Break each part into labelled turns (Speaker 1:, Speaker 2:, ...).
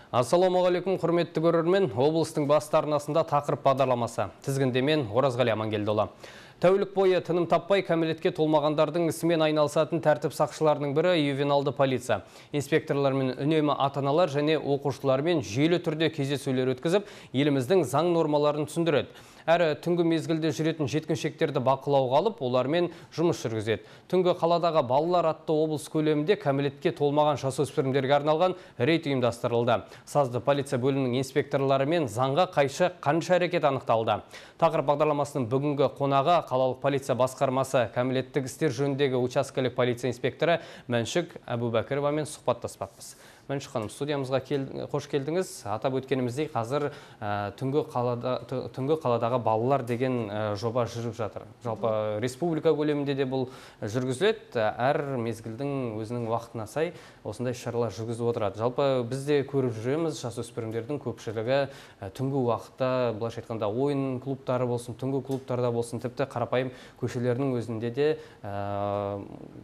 Speaker 1: Ассалаумағалейкум, құрметті көрермен. Облыстың басты арнасында тақырып бағдарламасы. Тізгіндемен Оразғали Амангелдіұлы. Тәулік бойы тыным таппай кәмелетке толмағандардың ісімен айналысатын тәртіп сақшыларының бірі ювеналды полиция. Инспекторлармен үнемі ата-аналар және оқушылармен жүйелі түрде кездесулер өткізіп, еліміздің заң нормаларын түсіндіреді. Әрі түнгі мезгілде жүретін жеткіншектерді бақылауға алып, олармен жұмыс жүргізеді. Түнгі қаладағы балалар атты облыс көлемінде кәмелетке толмаған жасөспірімдерге арналған рейд ұйымдастырылды. Сазды полиция бөлімінің инспекторларымен заңға қайшы қанша әрекет анықталды. Тақырып бағдарламасының бүгінгі қонағы қалалық полиция басқармасы кәмелеттік істер жөніндегі учаскелік полиция инспекторы Мәншік Әбубәкіровамен сұхбаттаспақпыз. Мәншік ханым, студиямызға қош келдіңіз. Атап өткеніміздей, қазір түнгі қаладағы балалар деген жоба жүріп жатыр. Жалпы республика көлемінде де бұл жүргізіледі. Әр мезгілдің өзінің уақытына сай осындай шаралар жүргізіп отырады. Жалпы біз де көріп жүреміз, жасөспірімдердің көпшілігі түнгі уақытта, былайша айтқанда, ойын клубтары болсын, түнгі клубтарда болсын, тіпті қарапайым көшелерінің өзінде де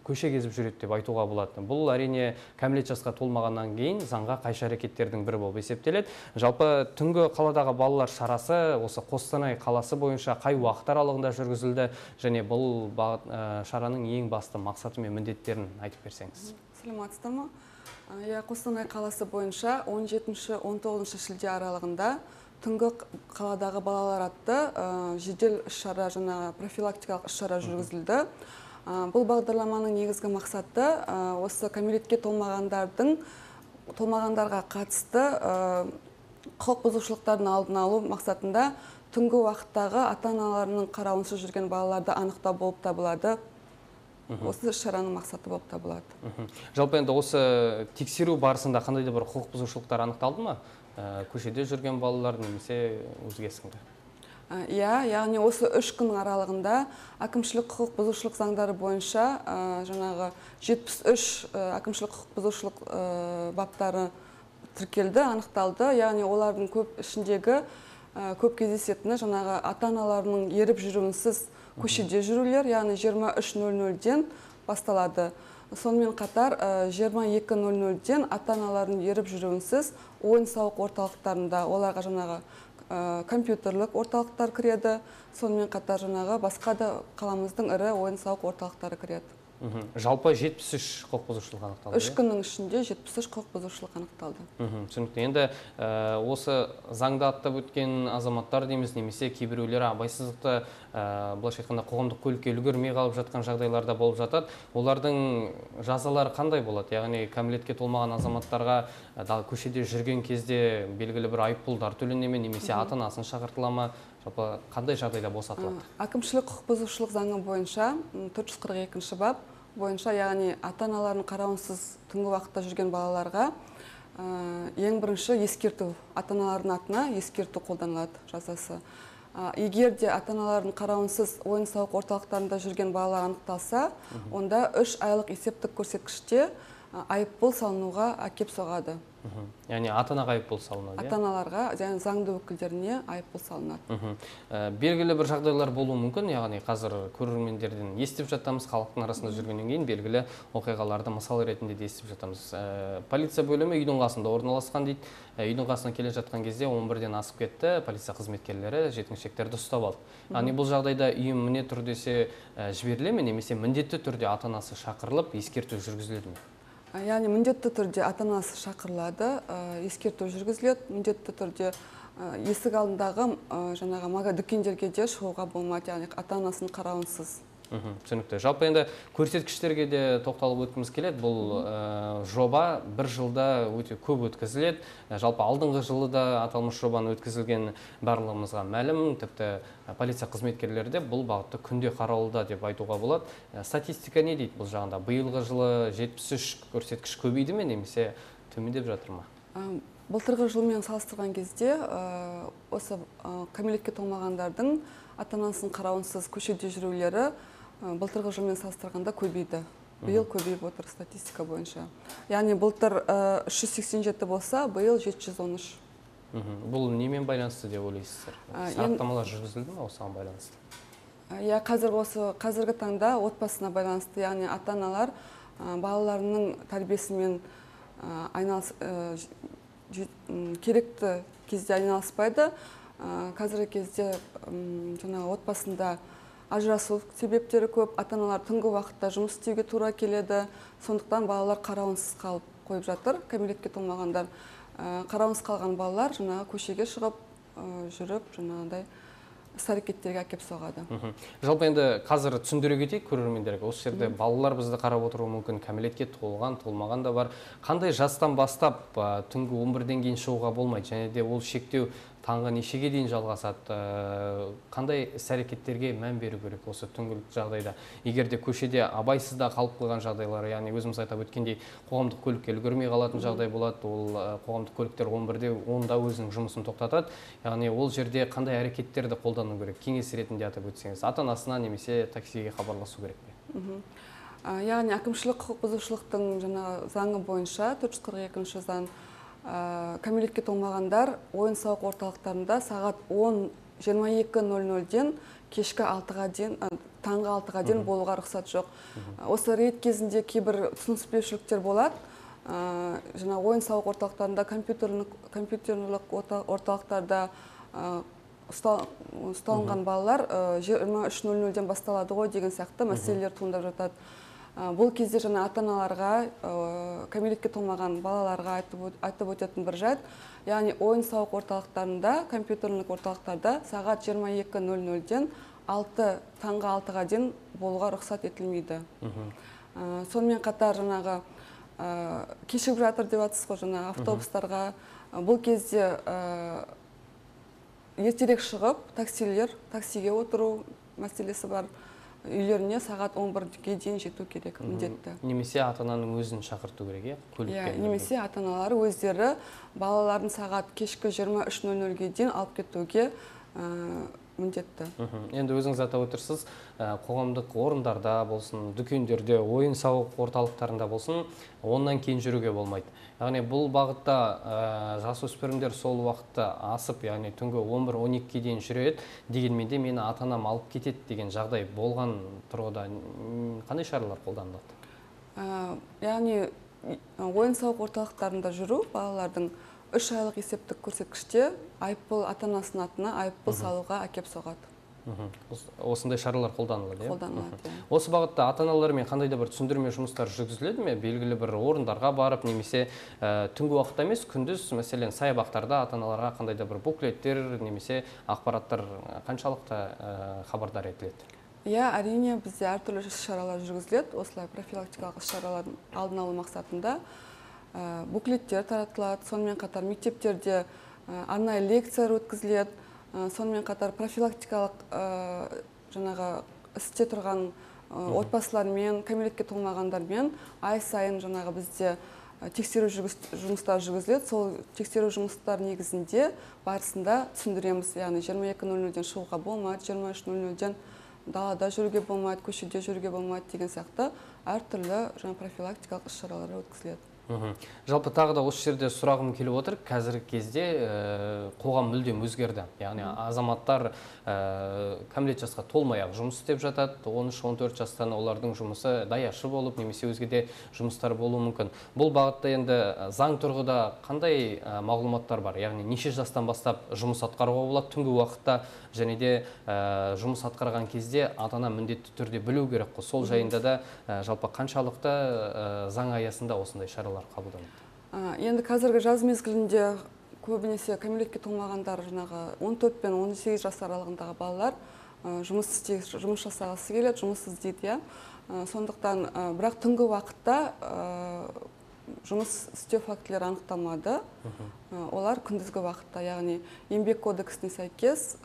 Speaker 1: көше кезіп жүреді деп айтуға болады. Бұл әрине кәмелет жасқа толмағаннан кейін заңға қайшы әрекеттердің бірі болып есептеледі. Жалпы түнгі қаладағы балалар шарасы осы Қостанай қаласы бойынша қай уақыт аралығында жүргізілді және бұл шараның ең басты мақсаты мен міндеттерін айтып берсеңіз.
Speaker 2: Саламатсыздар ма? Қостанай қаласы бойынша 17-19 шілде аралығында түнгі қаладағы балалар атты жедел іс-шара, профилактикалық іс-шара жүргізілді. Бұл бағдарламаның негізгі мақсаты осы кәмелетке толмағандарға қатысты құқық бұзушылықтардың алдын алу мақсатында түнгі уақыттағы ата-аналарының қарауынсыз жүрген балаларды анықтау болып табылады. Осы іс-шараның мақсаты болып табылады.
Speaker 1: Жалпы енді осы тексеру барысында қандай да бір құқық бұзушылықтар анықталды ма? Көшеде жүрген балалар немесе өзгесінде?
Speaker 2: Яғни осы 3 күн аралығында әкімшілік құқық бұзушылық заңдары бойынша 73 әкімшілік құқық бұзушылық баптары тіркелді, анықталды. Яғни олардың көп ішіндегі көп кездесетіні ата-аналарының еріп жүруінсіз көшеде жүрулер, яғни 23:00-ден басталады. Сонымен қатар 22:00-ден ата-аналардың еріп жүруінсіз ойын-сауық орталықтарында оларға компьютерлік орталықтар кіреді. Сонымен қатар басқа да қаламыздың ірі ойын-сауық орталықтары кіреді.
Speaker 1: Жалпы 73 құқық бұзушылық анықталды.
Speaker 2: 3 күннің ішінде 73 құқық бұзушылық анықталды.
Speaker 1: Түсінікті. Енді осы заңда аттап өткен азаматтар дейміз, немесе кейбіреулері абайсыздықты былайша айтқанда қоғамдық көлікке үлгермей қалып жатқан жағдайларда болып жатады. Олардың жазалары қандай болады? Яғни кәмелетке толмаған азаматтарға көшеде жүрген кезде белгілі бір айыппұлдар төлене ме, немесе ата-анасын шақыртыла ма? Жалпы қандай жағдайда босатылады?
Speaker 2: Әкімшілік құқық бұзушылық заңы бойынша 442 бап бойынша, яғни ата-аналарын қарауынсыз түнгі уақытта жүрген балаларға ең бірінші ескерту, ата-аналардың атына ескерту қолданылады жазасы. Егер де ата-аналардың қарауынсыз ойын-сауық орталықтарында жүрген балалар анықталса, онда 3 айлық есептік көрсеткіште айыппұл салынуға әкеп соғады.
Speaker 1: Яғни ата-анаға айыппұл салынады?
Speaker 2: Ата-аналарға, және заңды өкілдеріне айыппұл салынады.
Speaker 1: Белгілі бір жағдайлар болуы мүмкін, яғни қазір көрермендерден естіп жатамыз, халықтың арасында жүргеннен кейін белгілі оқиғаларды мысал ретінде де естіп жатамыз. Полиция бөлімі үйдің қасында орналасқан дейді. Үйдің қасына келе жатқан кезде 11-ден асып кетті, полиция қызметкерлері жеткіншектерді ұстап алды. Яғни бұл жағдайда үйім міне тұр десе жіберіле ме, немесе міндетті түрде ата-анасы шақырылып ескерту жүргізіледі ме?
Speaker 2: Яғни міндетті түрде ата-анасы шақырылады, ескерту жүргізіледі, міндетті түрде есік алдындағы дүкендерге де шығуға болмайды, яғни ата-анасын қарауынсыз.
Speaker 1: Түсінікті. Жалпы енді көрсеткіштерге де тоқталып өткіміз келеді. Бұл жоба бір жылда өте көп өткізіледі. Жалпы алдыңғы жылы да аталмыш жобаны өткізілген барлығымызға мәлім. Тіпті полиция қызметкерлері де бұл бағытты күнде қаралуда деп айтуға болады. Статистика не дейді бұл жағында? Биылғы жылы 73 көрсеткіш көбейді ме, немесе төмендеп жатыр ма?
Speaker 2: Былтырғы жылмен салыстырған кезде осы кәмелетке толмағандардың ата-анасын қарауынсыз көшеде жүрулері былтырғы жылмен салыстырғанда көбейді. Биыл көбейіп отыр статистика бойынша. Яғни былтыр 387 болса, биыл 713.
Speaker 1: Бұл немен байланысты деп ойлайсыздар? Сараптамалар жүргізілді ме осыған байланысты?
Speaker 2: Қазіргі таңда отбасына байланысты, яғни ата-аналар балаларының тәрбиесімен керекті кезде айналыспайды. Қазіргі кезде жаңағы отбасында ажырасу себептері көп, ата-аналар түнгі уақытта жұмыс істеуге тура келеді. Сондықтан балалар қарауынсыз қалып қойып жатыр. Кәмелетке толмағандар, қарауынсыз қалған балалар жаңағы көшеге шығып жүріп, жаңағыдай іс-әрекеттерге әкеп соғады.
Speaker 1: Жалпы енді қазір түсіндіре кетейік көрермендерге. Осы жерде балалар бізді қарап отыруы мүмкін, кәмелетке толған, толмаған да бар. Қандай жастан бастап түнгі 11-ден кейін шығуға болмайды, және де ол шектеу таңғы нешеге дейін жалғасады, қандай іс-әрекеттерге мән беру керек осы түнгілік жағдайда? Егер де көшеде абайсызда қалып қойған жағдайлар, яғни өзіміз атап өткендей қоғамдық көлікке үлгермей қалатын жағдай болады, ол қоғамдық көліктер 11-де 10-да өзінің жұмысын тоқтатады. Яғни ол жерде қандай әрекеттерді қолдану керек? Кеңес ретінде атап өтсеңіз, ата-анасына немесе таксиге хабарласу керек пе?
Speaker 2: Яғни әкімшілік құқық бұзушылықтың жаңағы заңы бойынша 442 заң кәмелетке толмағандар ойын-сауық орталықтарында сағат 22:00-ден кешкі 6-ға дейін, таңғы 6-ға дейін болуға рұқсат жоқ. Осы рейд кезінде кейбір түсініспеушіліктер болады. Жаңа ойын-сауық орталықтарында, компьютерлік орталықтарда ұсталынған балалар 23:00-ден басталады ғой деген сияқты мәселелер туындап жатады. Бұл кезде жаңа ата-аналарға, кәмелетке толмаған балаларға айтып өтетін бір жайт, яғни ойын-сауық орталықтарында, компьютерлік орталықтарда сағат 22:00-ден таңғы 6-ға дейін болуға рұқсат етілмейді. Сонымен қатар жаңағы кешігіп жатыр деп жатсыз ғой, жаңа автобустарға. Бұл кезде ертерек шығып, таксиге отыру мәселесі бар. Үйлеріне сағат 11-ге дейін жету керек, міндетті.
Speaker 1: Немесе ата-ананың өзін шақырту керек,
Speaker 2: немесе ата-аналары өздері балаларын сағат кешкі 23:00-ге дейін алып кетуге міндетті.
Speaker 1: Енді өзіңіз атап отырсыз, қоғамдық орындарда болсын, дүкендерде, ойын-сауық орталықтарында болсын, оннан кейін жүруге болмайды. Яғни бұл бағытта жасөспірімдер сол уақытта асып, яғни түнгі 11-12-ге дейін жүреді, дегенмен де мені ата-анам алып кетеді деген жағдай болған тұрғыда қандай шаралар қолданылады?
Speaker 2: Яғни ойын-сауық орталықтарында жүру балалардың 3 айлық есептік көрсеткіште айыппұл, ата-анасының атына айыппұл салуға әкеп соғады.
Speaker 1: Осындай шаралар қолданылады.
Speaker 2: Қолданылады.
Speaker 1: Осы бағытта ата-аналармен қандай да бір түсіндірме жұмыстар жүргізіледі ме? Белгілі бір орындарға барып, немесе түнгі уақытта емес, күндіз, мәселен, саябақтарда ата-аналарға қандай да бір буклеттер немесе ақпараттар қаншалықты хабардар етіледі?
Speaker 2: Әрине, бізде әртүрлі шаралар жүргізіледі. Осылай профилактикалық шаралардың алдын алу мақсатында буклеттер таратылады. Сонымен қатар мектептерде арнайы лекциялар өткізіледі. Сонымен қатар профилактикалық жаңағы істе тұрған отбасылармен, кәмелетке толмағандармен ай сайын жаңағы бізде тексеру жұмыстар жүргізіледі. Сол тексеру жұмыстар негізінде барысында түсіндіреміз. Яғни 22:00-ден шығуға болмайды, 23:00-ден далада жүруге болмайды, көшеде жүруге болмайды деген сияқты әртүрлі жаңа профилактикалық іс-шаралар өткізіледі.
Speaker 1: Жалпы тағы да осы жерде сұрағым келіп отыр. Қазіргі кезде қоғам мүлдем өзгерді. Яғни азаматтар кәмелет жасқа толмай-ақ жұмыс істеп жатады. 13-14 жастан олардың жұмысы даяшы болып, немесе өзге де жұмыстар болуы мүмкін. Бұл бағытта енді заң тұрғыда қандай мағлұматтар бар? Яғни неше жастан бастап жұмыс атқаруға болады түнгі уақытта, және де жұмыс атқарған кезде ата-ана міндетті түрде білу керек қой. Сол жайында да жалпы қаншалықты заң аясында осындай шаралар қабылданады?
Speaker 2: Енді қазіргі жаз мезгілінде көбінесе кәмелетке толмағандар жаңағы 14 пен 18 жас аралығындағы балалар жұмыс жасағысы келеді, жұмыс іздейді. Сондықтан бірақ түнгі уақытта жұмыс істеу фактілері анықталмады. Олар күндізгі уақытта, яғни еңбек кодексіне сәйкес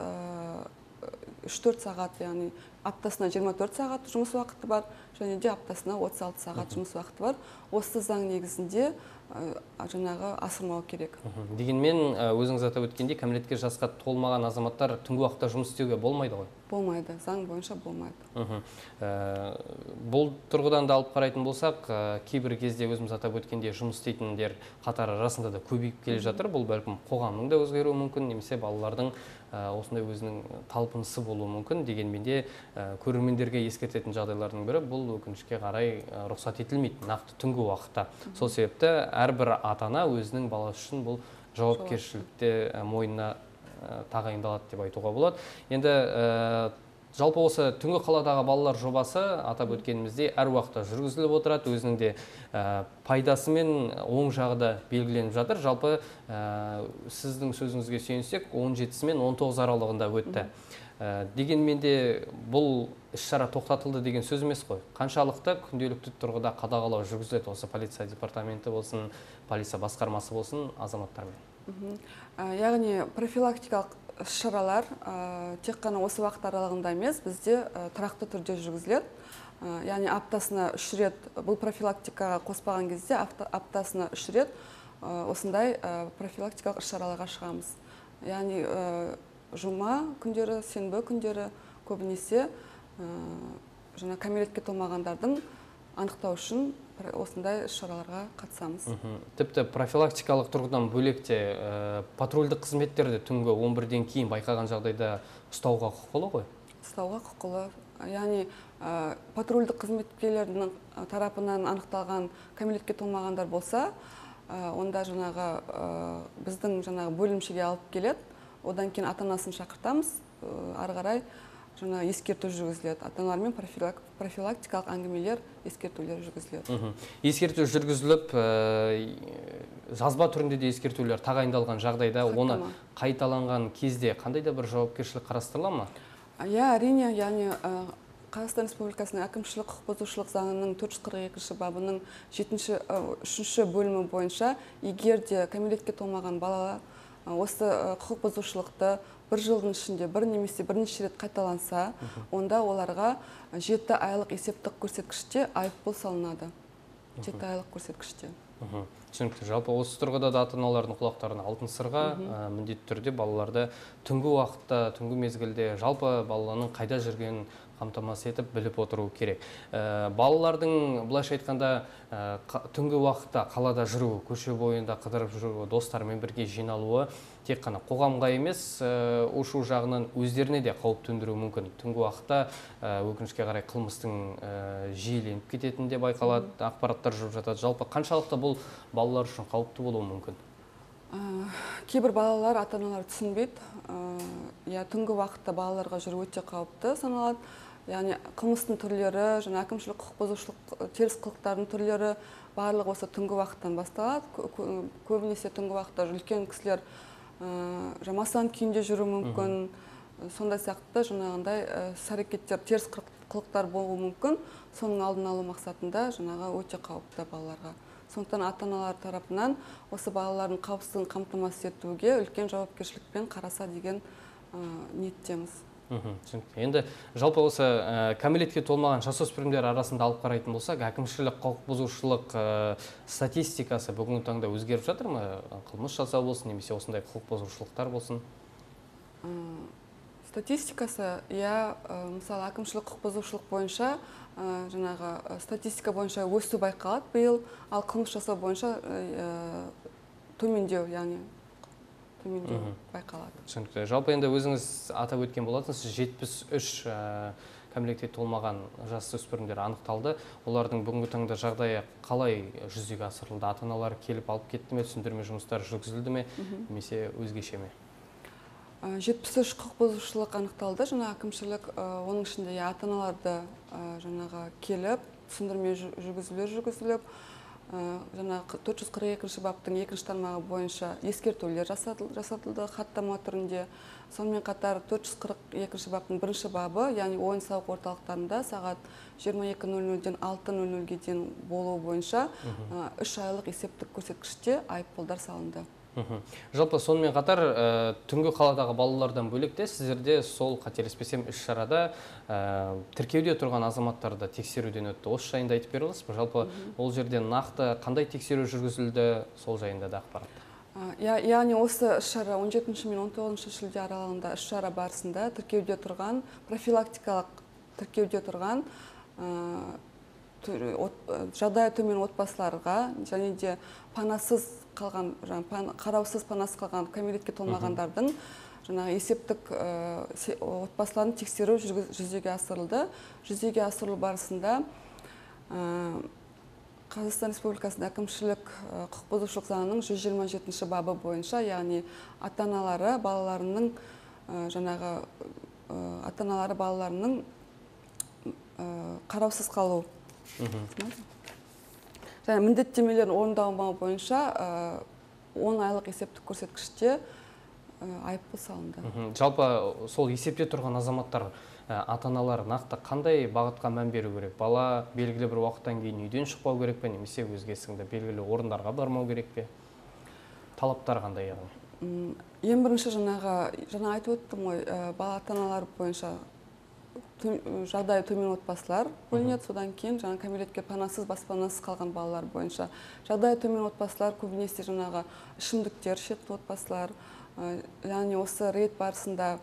Speaker 2: 3-4 сағат, яғни аптасына 24 сағат жұмыс уақыты бар, және де аптасына 36 сағат жұмыс уақыты бар. Осы заң негізінде жаңағы асырмау керек.
Speaker 1: Дегенмен өзіңіз атап өткендей, кәмелетке жасқа толмаған азаматтар түнгі уақытта жұмыс істеуге болмайды ғой?
Speaker 2: Болмайды, заң бойынша болмайды.
Speaker 1: Бұл тұрғыдан да алып қарайтын болсақ, кейбір кезде өзіміз атап өткендей жұмыс істейтіндер қатары расында да көбейіп келе жатыр. Бұл бәлкім қоғамның да өзгеруі мүмкін, немесе балалардың осындай өзінің талпынысы болуы мүмкін. Дегенмен де көрермендерге ескертетін жағдайлардың бірі, бұл өкінішке қарай рұқсат етілмейді нақты түнгі уақытта. Сол себепті әрбір ата-ана өзінің баласы үшін бұл жауапкершілікте мойнына тағайындалады деп айтуға болады. Енді жалпы осы түнгі қаладағы балалар жобасы атап өткеніміздей әр уақытта жүргізіліп отырады, өзінің де пайдасы мен оң жағы да белгіленіп жатыр. Жалпы сіздің сөзіңізге сүйенсек 17 мен 19 аралығында өтті. Дегенмен де бұл іс-шара тоқтатылды деген сөз емес қой. Қаншалықты күнделікті тұрғыда қадағалау жүргізіледі осы полиция департаменті болсын, полиция басқармасы болсын азаматтармен?
Speaker 2: Яғни профилактикалық іс-шаралар тек қана осы уақыт аралығында емес, бізде тұрақты түрде жүргізіледі. Яғни аптасына 3 рет, бұл профилактикаға қоспаған кезде аптасына 3 рет осындай профилактикалық іс-шараларға шығамыз. Яғни жұма күндері, сенбі күндері көбінесе жаңа кәмелетке толмағандардың анықтау үшін осындай іс-шараларға қатысамыз.
Speaker 1: Тіпті профилактикалық тұрғыдан бөлекте патрульдік қызметтерді түнгі 11-ден кейін байқаған жағдайда ұстауға құқылы ғой?
Speaker 2: Ұстауға құқылы. Яғни патрульдік қызметкерлердің тарапынан анықталған кәмелетке толмағандар болса, онда біздің бөлімшеге алып келеді. Одан кейін ата-анасын шақыртамыз, ары қарай ескерту жүргізіледі. Ата-аналармен профилактикалық әңгімелер, ескертулер жүргізіледі.
Speaker 1: Ескерту жүргізіліп, жазба түрінде де ескертулер тағайындалған жағдайда, оны қайталанған кезде қандай да бір жауапкершілік қарастырыла ма?
Speaker 2: Иә, әрине, яғни Қазақстан Республикасының әкімшілік құқық бұзушылық заңының 442 бабының 3-ші бөлімі бойынша, егер де кәмелетке толмаған бала осы құқық бұзушылықты бір жылдың ішінде бір немесе бірнеше рет қайталанса, онда оларға 7 айлық есептік көрсеткіште айыппұл салынады. 7 айлық көрсеткіште.
Speaker 1: Түсінікті. Жалпы осы тұрғыда да ата-аналардың құлақтарына алтын сырға міндетті түрде балаларды түнгі уақытта, түнгі мезгілде жалпы баланың қайда жүргенін қамтамасыз етіп біліп отыру керек. Балалардың былайша айтқанда түнгі уақытта қалада жүру, көше бойында қыдырып жүру, достармен бірге жиналуы тек қана қоғамға емес, ушу жағынан өздеріне де қауіп төндіруі мүмкін. Түнгі уақытта өкінішке қарай қылмыстың жиіленіп кететіні де байқалады, ақпараттар жүріп жатады. Жалпы қаншалықты бұл балалар үшін қауіпті болуы мүмкін?
Speaker 2: Кейбір балалар ата-аналар түсінбейді. Түнгі уақытта балаларға жүру өте қауіпті саналады. Яғни қылмыстың түрлері, әкімшілік құқық бұзушылық, теріс қылықтардың түрлері барлығы осы түнгі уақыттан басталады. Көбінесе түнгі уақытта үлкен кісілер масаң күйінде жүру мүмкін. Сондай сияқты іс-әрекеттер, теріс қылықтар болуы мүмкін. Соның алдын алу мақсатында өте қауіпті балаларға. Сондықтан ата-аналар тарапынан осы балалардың қауіпсіздігін қамтамасыз етуге үлкен жауапкершілікпен қараса деген ниеттеміз.
Speaker 1: Енді жалпы осы кәмелетке толмаған жасөспірімдер арасында алып қарайтын болсақ, әкімшілік құқық бұзушылық статистикасы бүгінгі таңда өзгеріп жатыр ма? Қылмыс жасау болсын, немесе осындай құқық бұзушылықтар болсын?
Speaker 2: Статистикасы, мысалы әкімшілік құқық бұзушылық бойынша статистика бойынша өсу байқалады биыл, ал қылмыс жасау бойынша төмендеу, төмендеу байқалады.
Speaker 1: Түсінікті. Жалпы енді өзіңіз атап өткен болатынсыз, 73 кәмелетке толмаған жасөспірімдер анықталды. Олардың бүгінгі таңда жағдайы қалай жүзеге асырылды? Ата-аналар келіп алып кетті ме, түсіндірме жұмыстары жүргізілді ме, немесе өзгеше ме?
Speaker 2: 73 құқық бұзушылық анықталды. Әкімшілік, оның ішінде ата-аналарды келіп, түсіндірме жүргізіліп, 442 баптың 2-ші тармағы бойынша ескертулер жасатылды хаттама түрінде. Сонымен қатар 442 баптың 1-ші бабы, яғни ойын-сауық орталықтарында сағат 22:00-ден 6:00-ге дейін болуы бойынша 3 айлық есептік көрсеткіште айыппұлдар салынды.
Speaker 1: Жалпы сонымен қатар түнгі қаладағы балалардан бөлек сіздерде сол қателеспесем іс-шарада тіркеуде тұрған азаматтарды тексеруден өтті. Осы жайында айтып бере аласыз ба? Жалпы ол жерде нақты қандай тексеру жүргізілді, сол жайында да ақпарат?
Speaker 2: Яғни осы іс-шара 17 мен 19 шілде аралығында іс-шара барысында тіркеуде тұрған, профилактикалық тіркеуде тұрған жағдайы төмен отбасыларға және де панасыз қалған, қараусыз панасыз қалған кәмелетке толмағандардың есептік отбасыларын тексеру жүзеге асырылды. Жүзеге асырылу барысында Қазақстан Республикасының әкімшілік құқық бұзушылық заңының 127 бабы бойынша, яғни ата-аналары балаларының қараусыз қалу және міндеттемелерін орындамау бойынша 10 айлық есептік көрсеткіште айыппұл салынды.
Speaker 1: Жалпы сол есепте тұрған азаматтар, ата-аналар нақты қандай бағытқа мән беру керек? Бала белгілі бір уақыттан кейін үйден шықпау керек пе, немесе өзгесінде белгілі орындарға бармау керек пе? Талаптар қандай яғни?
Speaker 2: Ең бірінші жаңа айтып өттім ғой, бала ата-аналар бойынша жағдайы төмен отбасылар бөлінеді, содан кейін кәмелетке панасыз, баспанасыз қалған балалар бойынша жағдайы төмен отбасылар көбінесе ішімдіктер ішетін отбасылар, яғни осы рейд барысында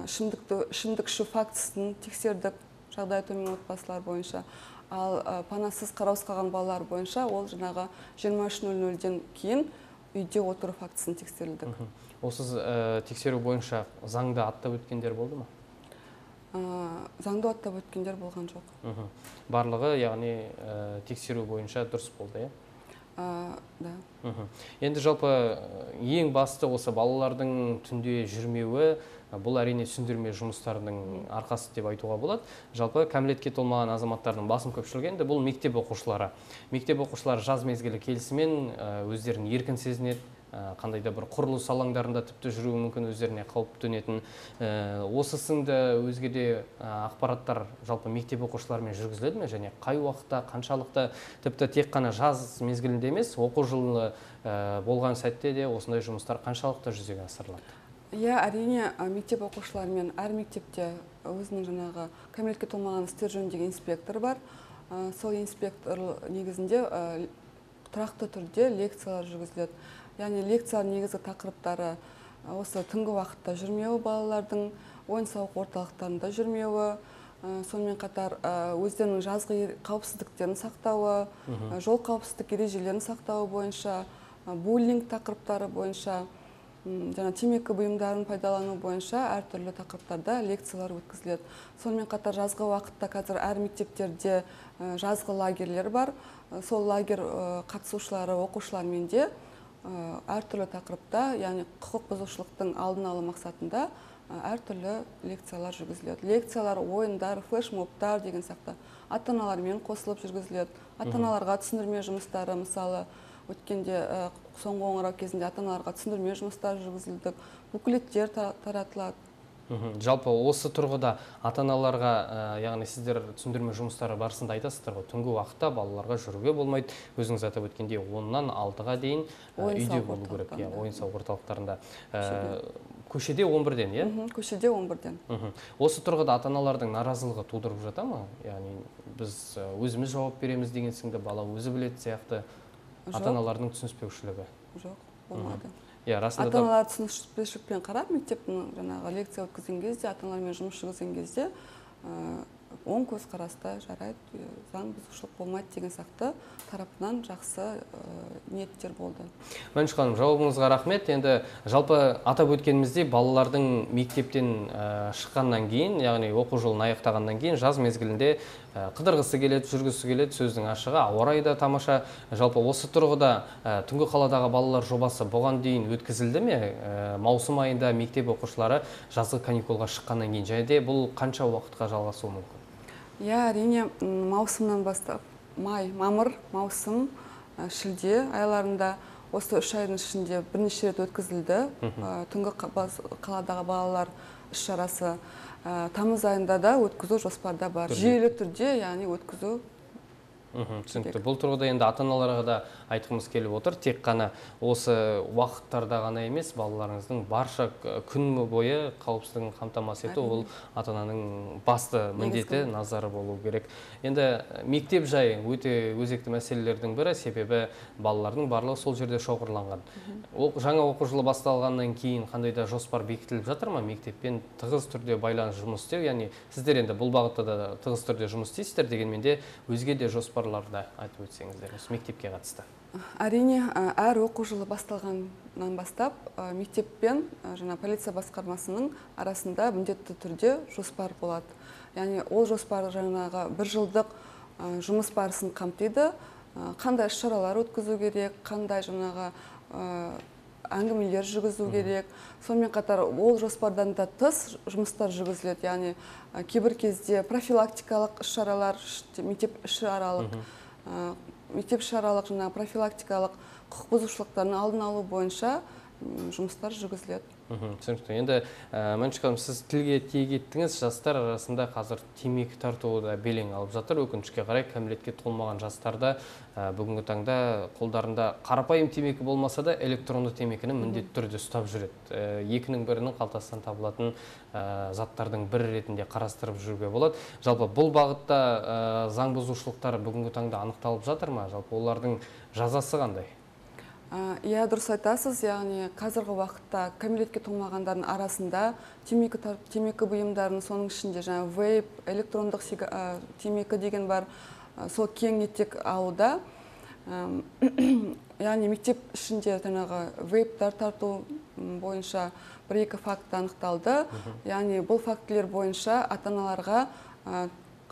Speaker 2: ішімдік ішу фактісін тексердік жағдайы төмен отбасылар бойынша. Ал панасыз қараусыз қалған балалар бойынша ол 23:00-ден кейін үйде отыру фактісін тексерілдік.
Speaker 1: Осы тексеру бойынша заңды аттап өткендер болды ма?
Speaker 2: Заңды аттап өткендер болған жоқ.
Speaker 1: Барлығы, яғни тексеру бойынша дұрыс болды,
Speaker 2: Да.
Speaker 1: Енді жалпы ең басты осы балалардың түнде жүрмеуі, бұл әрине түсіндірме жұмыстарының арқасы деп айтуға болады. Жалпы кәмелетке толмаған азаматтардың басым көпшілігі енді бұл мектеп оқушылары. Мектеп оқушылары жаз мезгілі келісімен өздерін еркін сезінеді, қандай да бір құрылыс алаңдарында тіпті жүруі мүмкін, өздеріне қауіп төнетін. Осы сынды өзге де ақпараттар жалпы мектеп оқушыларымен жүргізіледі ме, және қай уақытта, қаншалықты, тіпті тек қана жаз мезгілінде емес, оқу жылы болған сәтте де осындай жұмыстар қаншалықты жүзеге асырылады?
Speaker 2: Әрине, мектеп оқушыларымен әр мектепте өзінің кәмелетке толмаған істер жөніндегі инспектор бар. Сол инспектор негізінде тұрақты түрде лекциялар жүргізіледі. Яғни лекциялар негізгі тақырыптары осы түнгі уақытта жүрмеуі, балалардың ойын-сауық орталықтарында жүрмеуі, сонымен қатар өздерінің жазғы қауіпсіздіктерін сақтауы, жол қауіпсіздік ережелерін сақтауы бойынша, буллинг тақырыптары бойынша, темекі бұйымдарын пайдалану бойынша әртүрлі тақырыптарда лекциялар өткізіледі. Сонымен қатар жазғы уақытта қазір әр мектептерде жазғы лагерлер бар. Сол лагер қатысушылары, оқушылармен де әртүрлі тақырыпта, яғни құқық бұзушылықтың алдын алу мақсатында әртүрлі лекциялар жүргізіледі. Лекциялар, ойындар, флешмобтар деген сияқты ата-аналармен қосылып жүргізіледі. Ата-аналарға түсіндірме жұмыстары, мысалы, өткенде соңғы қоңырау кезінде ата-аналарға түсіндірме жұмыстары жүргізілді, буклеттер таратылады.
Speaker 1: Жалпы осы тұрғыда ата-аналарға, яғни сіздер түсіндірме жұмыстары барысында айтасыздар ғой, түнгі уақытта балаларға жүруге болмайды, өзіңіз атап өткендей 10-нан 6-ға дейін үйде болу керек, ойын-сауық орталықтарында. Көшеде 11-ден,
Speaker 2: Көшеде 11-ден.
Speaker 1: Осы тұрғыда ата-аналардың наразылығы тудырып жата ма? Яғни біз өзіміз жауап береміз деген сынды бала өзі білетін сияқты ата-аналардың түсініспеушілігі?
Speaker 2: Жоқ, болмады.
Speaker 1: Ата-аналар
Speaker 2: түсініспеушілікпен қарап, мектептің лекция өткізген кезде, ата-аналармен жұмыс жүргізген кезде оң көзқараста жарайды, заң бұзушылық болмайды деген сияқты тарапынан жақсы ниеттер болды.
Speaker 1: Мәншүк ханым, жауабыңызға рахмет. Енді жалпы атап өткеніміздей балалардың мектептен шыққаннан кейін, яғни оқу жылын аяқтағаннан кейін жаз мезгілінде қыдырғысы келеді, жүргісі келеді, сөздің ашығы, ауа райы да тамаша. Жалпы осы тұрғыда түнгі қаладағы балалар жобасы бұған дейін өткізілді ме? Маусым айында мектеп оқушылары жазғы каникулға шыққаннан кейін, және де бұл қанша уақытқа жалғасуы мүмкін?
Speaker 2: Әрине, маусымнан бастап, мамыр, маусым, шілде айларында осы 3 айдың ішінде бірнеше рет өткізілді. Түнгі қаладағы балалар іс-шарасы тамыз айында да өткізу жоспарда бар. Жүйелі түрде, яғни өткізу.
Speaker 1: Түсінікті. Бұл тұрғыда енді ата-аналарға да айтқымыз келіп отыр. Тек қана осы уақыттарда ғана емес, балаларыңыздың барша күн бойы қауіпсіздігін қамтамасыз ету, ол ата-ананың басты міндеті, назары болу керек. Енді мектеп жай өте өзекті мәселелердің бірі, себебі балалардың барлығы сол жерде шоғырланған. Жаңа оқу жылы басталғаннан кейін қандай да жоспар бекітіліп жатыр ма? Мектеппен тығыз түрде байланыс жұмыс істеу, яғни сіздер енді бұл бағытта да тығыз түрде жұмыс істейсіздер, дегенмен де өзге де жоспарларды айтып өтсеңіздер, мектепке қатысты.
Speaker 2: Әрине, әр оқу жылы басталғаннан бастап мектеппен полиция басқармасының арасында міндетті түрде жоспар болады. Яғни ол жоспар бір жылдық жұмыс барысын қамтиды. қандай іс-шаралар өткізу керек, қандай жаңағы әңгімелер жүргізу керек. Сонымен қатар ол жоспардан да тыс жұмыстар жүргізіледі. Яғни кейбір кезде профилактикалық іс-шаралар, мектеп-ішаралық жаңағы профилактикалық құқық бұзушылықтардың алдын алу бойынша жұмыстар жүргізіледі.
Speaker 1: Түсінікті. Енді Мәншүк ханым, сіз тілге тиек еттіңіз, жастар арасында қазір темекі тартуы да белең алып жатыр. Өкінішке қарай кәмелетке толмаған жастарда бүгінгі таңда қолдарында қарапайым темекі болмаса да электронды темекіні міндетті түрде ұстап жүреді. Екінің бірінің қалтасынан табылатын заттардың бірі ретінде қарастырып жүруге болады. Жалпы бұл бағытта заң бұзушылықтар бүгінгі таңда анықталып жатыр ма? Жалпы олардың жазасы қандай?
Speaker 2: Иә, дұрыс айтасыз. Яғни қазіргі уақытта кәмелетке толмағандардың арасында темекі бұйымдарының, соның ішінде жаңа вейп, электрондық темекі деген бар, сол кең етек алуда. Яғни мектеп ішінде жаңағы вейптар тарту бойынша 1-2 факт анықталды. Яғни бұл фактілер бойынша ата-аналарға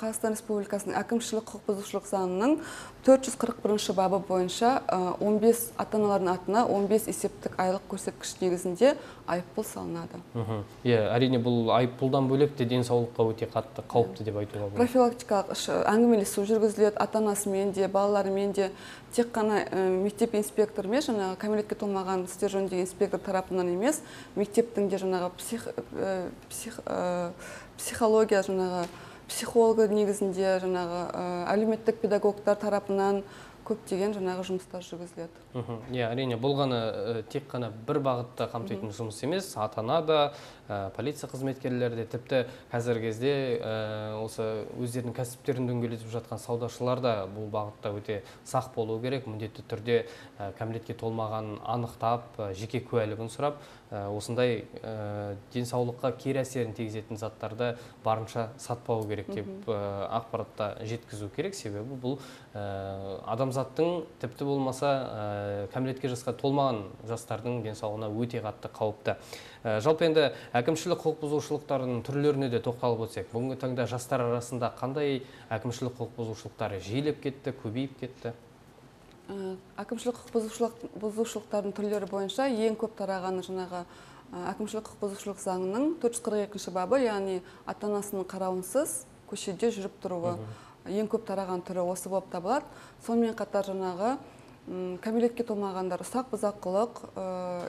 Speaker 2: Қазақстан Республикасының әкімшілік құқық бұзушылық заңының 441 бабы бойынша 15 ата-аналардың атына 15 есептік айлық көрсеткіш негізінде айыппұл салынады.
Speaker 1: Әрине, бұл айыппұлдан бөлек те денсаулыққа өте қатты қауіпті деп айтуға болады.
Speaker 2: Профилактикалық әңгімелесу жүргізіледі ата-анасымен де, балаларымен де. Тек қана мектеп инспекторымен, жаңағы кәмелетке толмаған істер жөніндегі инспектор тарапынан емес, мектептің де жаңағы психология, жаңағы психологы негізінде, жаңағы әлеуметтік педагогтар тарапынан көптеген жаңағы жұмыстар жүргізіледі.
Speaker 1: Әрине, бұл ғана тек қана бір бағытта қамтитын жұмыс емес, ата-ана да, полиция қызметкерлері де, тіпті қазіргі кезде осы өздерінің кәсіптерін дөңгелетіп жатқан саудашылар да бұл бағытта өте сақ болу керек. Міндетті түрде кәмелетке толмаған анықтап, жеке куәлігін сұрап, осындай денсаулыққа кері әсерін тигізетін заттарды барынша сатпау керек деп ақпаратта жеткізу керек. Себебі бұл адамзаттың, тіпті болмаса кәмелетке жасқа толмаған жастардың денсаулығына өте қатты қауіпті. Жалпы енді әкімшілік құқық бұзушылықтардың түрлеріне де тоқталып өтсек, бүгінгі таңда жастар арасында қандай әкімшілік құқық бұзушылықтары жиілеп кетті, көбейіп кетті?
Speaker 2: Әкімшілік құқық бұзушылықтардың түрлері бойынша ең көп тарағаны жаңағы әкімшілік құқық бұзушылық заңының 442 бабы, яғни ата-анасының қарауынсыз көшеде жүріп тұруы ең көп тараған түрі осы болып табылады. Сонымен қатар жаңағы кәмелетке толмағандар ұсақ бұзақылық,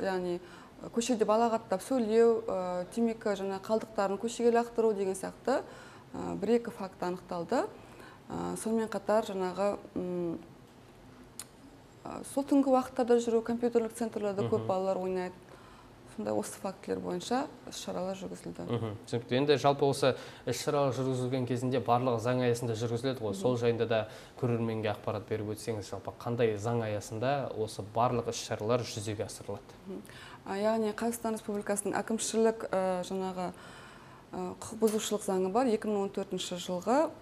Speaker 2: яғни көшеде балағаттап сөйлеу, темекі жаңа қалдықтарын көшеге лақтыру деген сияқты 1-2 факт анықталды. Сонымен қатар жаңағы сол түнгі уақыттарда жүру, компьютерлік центрлерде көп балалар ойнайды. Сондай осы фактілер бойынша іс-шаралар жүргізілді.
Speaker 1: Түсінікті. Енді жалпы осы іс-шаралар жүргізілген кезінде барлығы заң аясында жүргізіледі ғой. Сол жайында да көрерменге ақпарат беріп өтсеңіз, жалпы қандай заң аясында осы барлық іс-шаралар жүзеге асырылады?
Speaker 2: Яғни Қазақстан Республикасының әкімшілік жаңағы құқық бұзушылық заңы бар. 2014 жылғы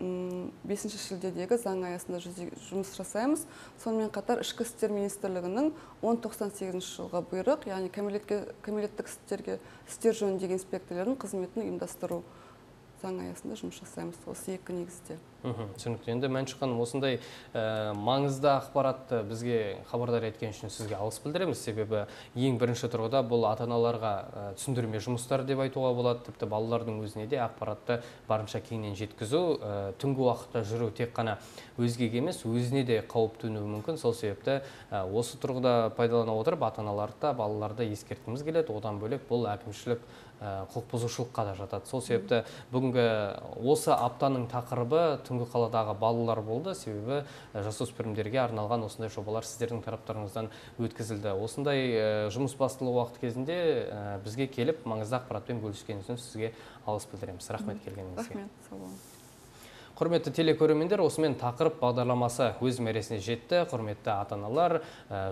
Speaker 2: 5 шілдедегі заң аясында жұмыс жасаймыз. Сонымен қатар Ішкі істер министрлігінің 1098 жылғы бұйрық, яғни кәмелеттік істер жөніндегі инспекторлардың қызметін ұйымдастыру заң аясында жұмыс жасаймыз. Осы екі негізде.
Speaker 1: Түсінікті. Енді Мәншүк ханым, осындай маңызды ақпаратты бізге хабардар еткен үшін сізге алғыс білдіреміз. Себебі ең бірінші тұрғыда бұл ата-аналарға түсіндірме жұмыстар деп айтуға болады. Тіпті балалардың өзіне де ақпаратты барынша кеңінен жеткізу, түнгі уақытта жүру тек қана өзгеге емес, өзіне де қауіп төнуі мүмкін. Сол себепті осы тұрғыда пайдалана отырып, ата-аналарды да, балаларды ескерткіміз келеді. Одан бөлек бұл әкімшілік құқық бұзушылыққа да жатады. Сол себепті бүгінгі осы аптаның тақырыбы түнгі қаладағы балалар болды. Себебі жасөспірімдерге арналған осындай жобалар сіздердің тараптарыңыздан өткізілді. Осындай жұмыс басталу уақыт кезінде бізге келіп маңызды ақпаратпен бөліскеніңіз үшін сізге алғыс білдіреміз. Рахмет келгеніңізге.
Speaker 2: Рахмет, сау болыңыз.
Speaker 1: Құрметті телекөрермендер, осымен тақырып бағдарламасы өз мәресіне жетті. Құрметті ата-аналар,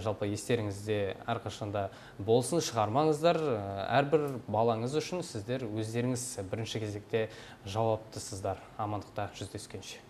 Speaker 1: жалпы естеріңізде әрқашанда болсын, шығармаңыздар. Әрбір балаңыз үшін сіздер өздеріңіз бірінші кезекте жауаптысыздар. Амандықта жүздескенше.